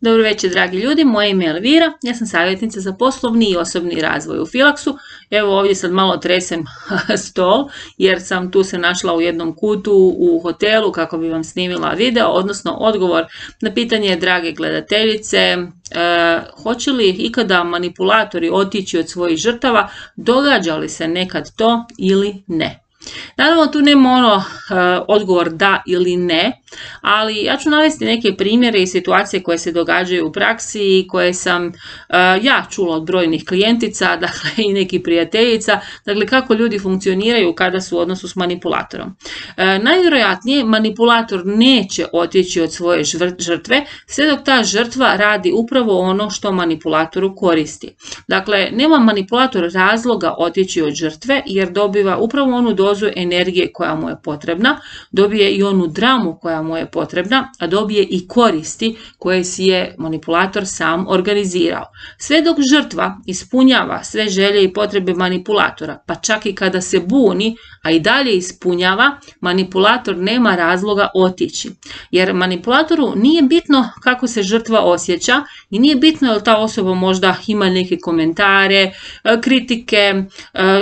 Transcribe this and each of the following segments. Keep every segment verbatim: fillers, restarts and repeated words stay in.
Dobro večer, dragi ljudi, moje ime je Elvira, ja sam savjetnica za poslovni i osobni razvoj u Filaksu. Evo ovdje sad malo tresem stol jer sam tu se našla u jednom kutu u hotelu kako bi vam snimila video, odnosno odgovor na pitanje drage gledateljice, e, hoće li ikada manipulatori otići od svojih žrtava, događa li se nekad to ili ne. Naravno tu nema ono uh, odgovor da ili ne, ali ja ću navesti neke primjere i situacije koje se događaju u praksi i koje sam uh, ja čula od brojnih klijentica, dakle i nekih prijateljica, dakle kako ljudi funkcioniraju kada su u odnosu s manipulatorom. Uh, najvjerojatnije manipulator neće otići od svoje žrtve sve dok ta žrtva radi upravo ono što manipulatoru koristi. Dakle, nema manipulator razloga otići od žrtve jer dobiva upravo onu dozu energije koja mu je potrebna, dobije i onu dramu koja mu je potrebna, a dobije i koristi koje si je manipulator sam organizirao. Sve dok žrtva ispunjava sve želje i potrebe manipulatora, pa čak i kada se buni, a i dalje ispunjava, manipulator nema razloga otići. Jer manipulatoru nije bitno kako se žrtva osjeća i nije bitno jel ta osoba možda ima neke komentare, kritike,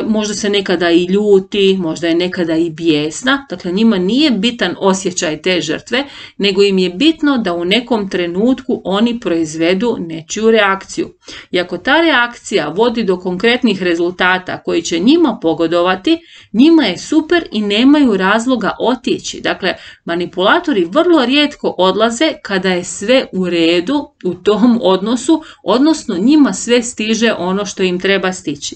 možda se nekada i ljuti, možda je nekada i bijesna, dakle njima nije bitan osjećaj te žrtve, nego im je bitno da u nekom trenutku oni proizvedu nečiju reakciju. I ako ta reakcija vodi do konkretnih rezultata koji će njima pogodovati, njima je super i nemaju razloga otići. Dakle, manipulatori vrlo rijetko odlaze kada je sve u redu u tom odnosu, odnosno njima sve stiže ono što im treba stići.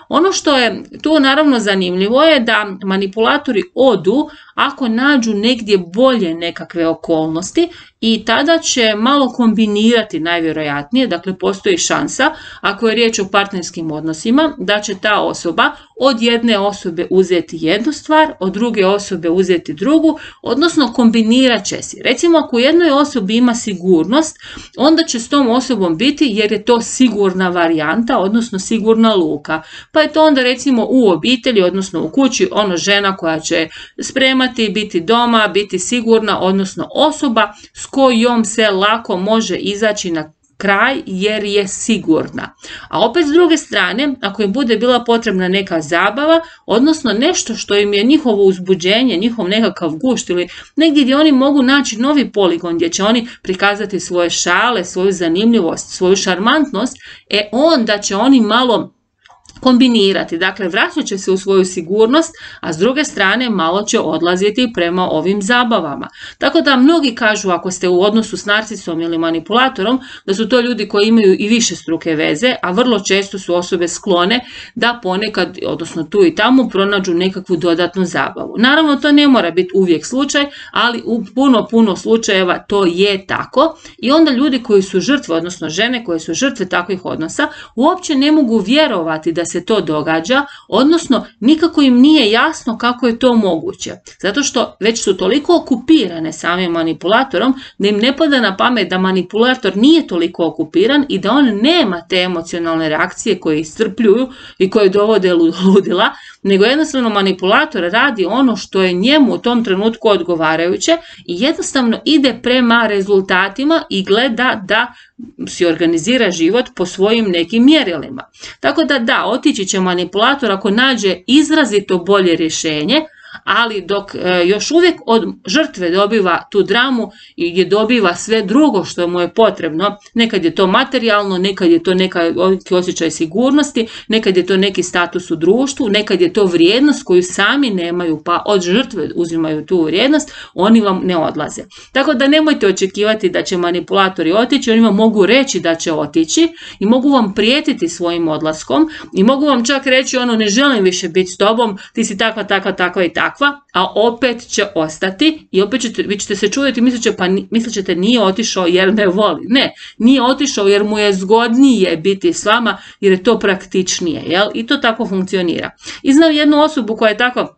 Ono što je tu naravno zanimljivo je da manipulatori odu ako nađu negdje bolje nekakve okolnosti i tada će malo kombinirati najvjerojatnije, dakle postoji šansa ako je riječ o partnerskim odnosima da će ta osoba od jedne osobe uzeti jednu stvar, od druge osobe uzeti drugu, odnosno kombinirat će si. Recimo ako u jednoj osobi ima sigurnost, onda će s tom osobom biti jer je to sigurna varijanta, odnosno sigurna luka. Pa je to onda recimo u obitelji, odnosno u kući, ono žena koja će spremati, biti doma, biti sigurna, odnosno osoba s kojom se lako može izaći na kraj jer je sigurna. A opet s druge strane, ako im bude bila potrebna neka zabava, odnosno nešto što im je njihovo uzbuđenje, njihov nekakav gušt ili negdje gdje oni mogu naći novi poligon gdje će oni prikazati svoje šale, svoju zanimljivost, svoju šarmantnost, e onda će oni malo kombinirati, dakle vraćat će se u svoju sigurnost, a s druge strane malo će odlaziti prema ovim zabavama. Tako da mnogi kažu ako ste u odnosu s narcisom ili manipulatorom, da su to ljudi koji imaju i više struke veze, a vrlo često su osobe sklone da ponekad, odnosno tu i tamo, pronađu nekakvu dodatnu zabavu. Naravno to ne mora biti uvijek slučaj, ali u puno, puno slučajeva to je tako i onda ljudi koji su žrtve, odnosno žene koje su žrtve takvih odnosa, uopće ne mogu vjerovati da se to događa, odnosno nikako im nije jasno kako je to moguće. Zato što već su toliko okupirane samim manipulatorom da im ne pada na pamet da manipulator nije toliko okupiran i da on nema te emocionalne reakcije koje iscrpljuju i koje dovode ludila, nego jednostavno manipulator radi ono što je njemu u tom trenutku odgovarajuće i jednostavno ide prema rezultatima i gleda da si organizira život po svojim nekim mjerilima. Tako da da, otići će manipulator ako nađe izrazito bolje rješenje, ali dok e, još uvijek od žrtve dobiva tu dramu i gdje dobiva sve drugo što mu je potrebno, nekad je to materijalno, nekad je to neki osjećaj sigurnosti, nekad je to neki status u društvu, nekad je to vrijednost koju sami nemaju pa od žrtve uzimaju tu vrijednost, oni vam ne odlaze. Tako da nemojte očekivati da će manipulatori otići, oni vam mogu reći da će otići i mogu vam prijetiti svojim odlaskom i mogu vam čak reći ono ne želim više biti s tobom, ti si takva, takva, takva i takva, a opet će ostati i opet ćete, vi ćete se čuditi i mislit, pa, mislit ćete nije otišao jer me voli. Ne, nije otišao jer mu je zgodnije biti s vama jer je to praktičnije, jel? I to tako funkcionira. I znam jednu osobu koja je tako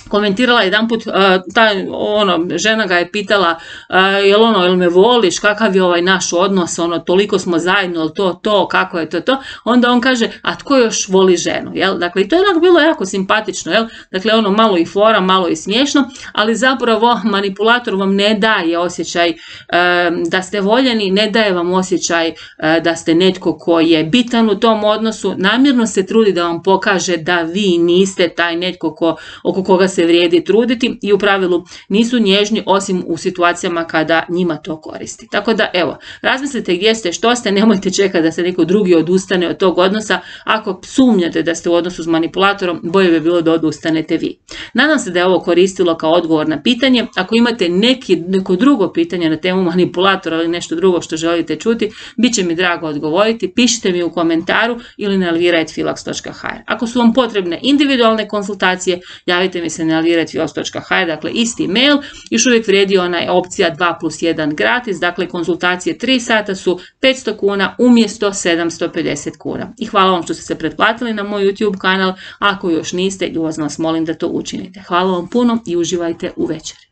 komentirala jedanput, uh, ta ono, žena ga je pitala uh, jel ono, jel me voliš, kakav je ovaj naš odnos, ono, toliko smo zajedno, jel to, to, kako je to, to, onda on kaže, a tko još voli ženu, jel, dakle, i to je onako bilo jako simpatično, jel, dakle, ono, malo i fora, malo i smiješno, ali zapravo manipulator vam ne daje osjećaj um, da ste voljeni, ne daje vam osjećaj uh, da ste netko ko je bitan u tom odnosu, namjerno se trudi da vam pokaže da vi niste taj netko ko, oko koga se vrijedi truditi i u pravilu nisu nježni osim u situacijama kada njima to koristi. Tako da evo, razmislite gdje ste, što ste, nemojte čekati da se neko drugi odustane od tog odnosa. Ako sumnjate da ste u odnosu s manipulatorom, bolje bi bilo da odustanete vi. Nadam se da je ovo koristilo kao odgovor na pitanje. Ako imate neki, neko drugo pitanje na temu manipulatora ili nešto drugo što želite čuti, bit će mi drago odgovoriti. Pišite mi u komentaru ili na elvira at filax točka h r. Ako su vam potrebne individualne konsultacije, javite mi se na elvira at filax točka h r, dakle isti mail, još uvijek vrijedi ona opcija dva plus jedan gratis, dakle konsultacije tri sata su petsto kuna umjesto sedamsto pedeset kuna. I hvala vam što ste se pretplatili na moj YouTube kanal, ako još niste, ljubazno vas molim da to učinite. Hvala vam puno i uživajte u večeri.